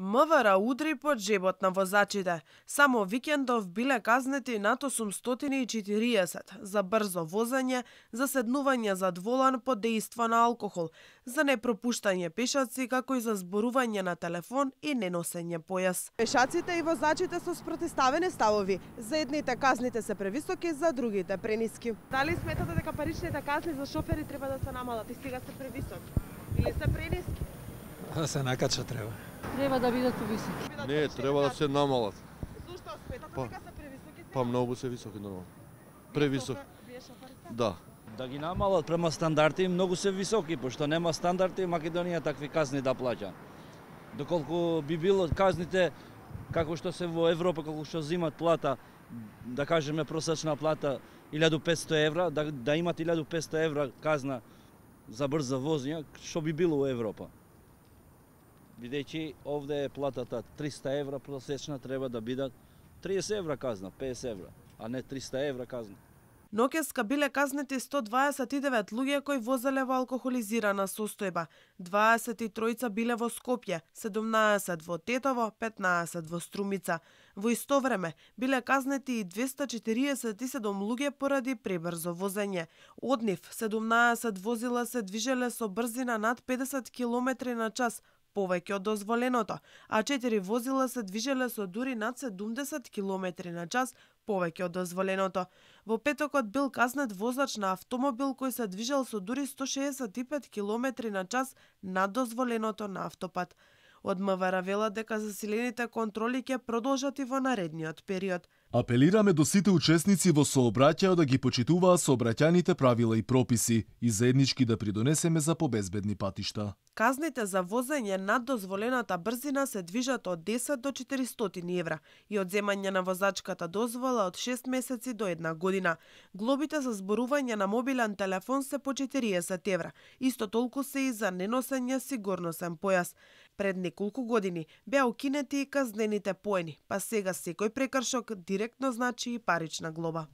МВР удри по джебот на возачите. Само викендов биле казнети над 840 за брзо возење, за седнување зад волан под дејство на алкохол, за непропуштање пешаци, како и за зборување на телефон и неносење појас. Пешаците и возачите со спротивставени ставови. За едните казните се превисоки, за другите прениски. Дали сметате дека паричните казни за шофери треба да се намалат и сега се превисоки или се прениски? Да се накача треба. Треба да бидат повисоки. Не, треба да се намалат. Зошто сметате дека се превисоки? Па многу се високи нормално. Превисоки. Да. Да ги намалат према стандарти, многу се високи, пошто нема стандарти, Македонија такви казни да плаќа. Доколку би било казните како што се во Европа, како што зимат плата, да кажеме просечна плата 1500 евра, да имат 1500 евра казна за брза возење, што би било во Европа. Бидејќи овде е платата 300 евра просечна, треба да бидат 30 евра казна, 50 евра, а не 300 евра казна. Ноќеска биле казнети 129 луѓе кои возеле во алкохолизирана состојба. 23 биле во Скопје, 17 во Тетово, 15 во Струмица. Во исто време биле казнети и 247 луѓе поради пребрзо возење. Од нив 17 возила се движеле со брзина над 50 км на час, повеќе од дозволеното, а 4 возила се движеле со дури над 70 км на час, повеќе од дозволеното. Во петокот бил казнет возач на автомобил кој се движел со дури 165 км на час над дозволеното на автопат. Од МВР велат дека засилените контроли ќе продолжат и во наредниот период. Апелираме до сите учесници во сообраќајот да ги почитуваат сообраќајните правила и прописи и заеднички да придонесеме за побезбедни патишта. Казните за возење над дозволената брзина се движат од 10 до 400 евра и одземање на возачката дозвола од 6 месеци до 1 година. Глобите за зборување на мобилен телефон се по 40 евра. Исто толку се и за неносење сигурносен појас. Пред неколку години беа укинети и казнените поени, па сега секој прекршок директно значи и парична глоба.